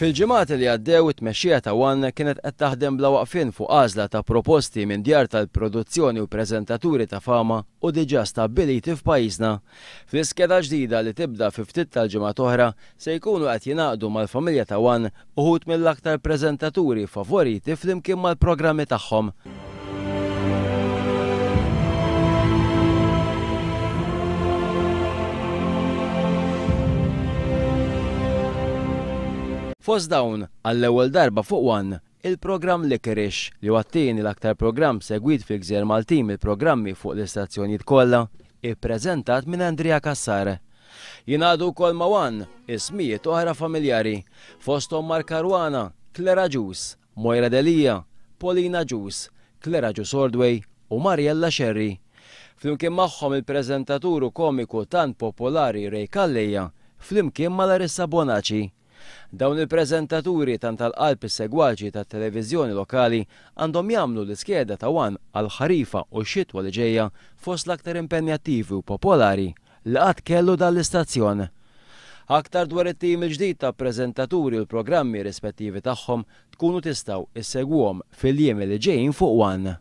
Fil-ġimgħat li għaddew it-tmexxija ta' One kienet qed taħdem bla waqfien fuq għażla ta' proposti minn djar tal-produzzjoni u preżentaturi ta' fama u diġà stabbiliti f'pajjiżna. Fl-iskeda ġdida li tibda fi ftit tal-ġimgħat oħra se jkunu qed jingħaqdu mal-familja ta' One uħud mill-aktar preżentaturi favoriti flimkien mal-programmi tagħhom. Fost dawn, għall-ewwel darba fuq One, il-programm Licorice, li huwa t-tieni l-aktar programm segwit fil-gżejjer Maltin mill-programmi fuq l-istazzjonijiet kollha, ippreżentat minn Andrea Cassar. Jingħaqdu wkoll ma' One ismijiet oħra familjari, fosthom Mark Caruana, Claire Agius, Moira Delia, Paulina Agius, Claire Agius Ordway u Mariella Scerri. Flimkien magħhom il-preżentatur u komiku tant popolari Ray Calleja flimkien ma' Larissa Bonaci. Dawn il-preżentaturi tant għal qalb is-segwaċi tat-televiżjoni lokali għandhom jagħmlu l-iskeda ta' One għall-ħarifa u x-xitwa li ġejja fost l-aktar impenjattivi u popolari li qatt kellu dan l-istazzjon. Aktar dwar it-tim il-ġdid ta' preżentaturi u l-programmi rispettivi tagħhom tkunu tistgħu issegwuhom fil-jiem li ġejjin fuq One.